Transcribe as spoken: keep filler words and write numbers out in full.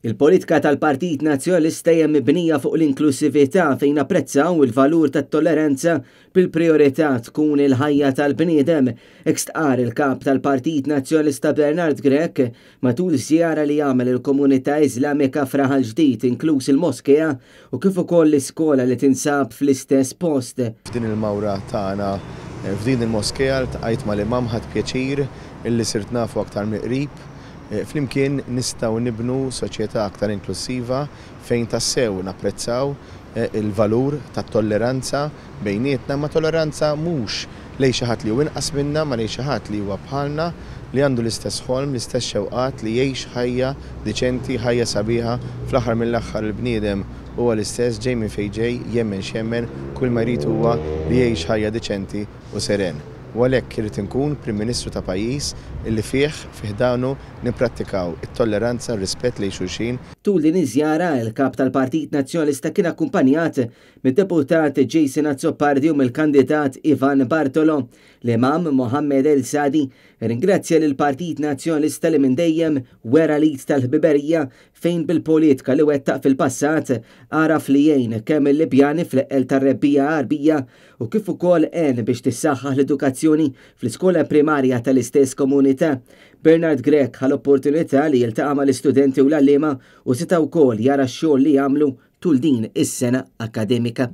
Il-politika tal-Partit Nazzjonalista hija mibnija fuq l-inklusività fejn apprezzaw il-valur tat-tolleranza bil-priorità tkun il-ħajja tal-bniedem. Hekk stqarr il-kap tal-Partit Nazzjonalista Bernard Grech matul żjara li għamel il-komunità Iżlamika f'Raħal Ġdid, inkluż il-moskea u kif ukoll l-iskola li tinsab fl-istess post. F'din il-mawra tagħna f'din il-moskea ltqajt mal-imam, ħadt pjaċir illi sirt nafu aktar mill-qrib. Flimkien nistgħu nibnu soċjetà aktar inklusiva fejn tassew napprezzaw il-valur tat-tolleranza bejnietna, ma tolleranza mhux lejn xi ħadd li hu inqas minna, ma lejn xi ħadd li huwa bħalna, li għandu l-istess ħolm, l-istess xewqat, li jgħix ħajja diċenti, ħajja sabiħa. Fl-aħħar mill-aħħar il-bniedem huwa l-istess, ġej minn fejn ġej, jemmen x'jemmen, kull ma jrid huwa li jgħix ħajja diċenti u seren. U għalhekk irid inkun Prim Ministru ta' pajjiż illi fih fi ħdanu nipprattikaw it-tolleranza, r-rispett lejn xulxin. Tul din iż-żjara il-kap tal-Partit Nazzjonalista kien akkumpanjat mid-deputat Jason Azzopardi u mill-kandidat Ivan Bartolo. L-Imam Mohammed El Sadi ringrazzja lill-Partit Nazzjonalista li minn dejjem wera l-id tal-ħbiberija fejn bil-politika li wettaq fil-passat għaraf li jgħin kemm il-Libjani fl-eqqel tar-Rebbiegħa Għarbija u kif ukoll għen biex tissaħħaħ l-edukazzjoni fl-iskola primarja tal-istess komunità. Bernard Grech ħa l-opportunità li jiltaqa' mal-istudenti u l-għalliema u seta' wkoll jara x-xogħol li jagħmlu tul din is-sena akademika.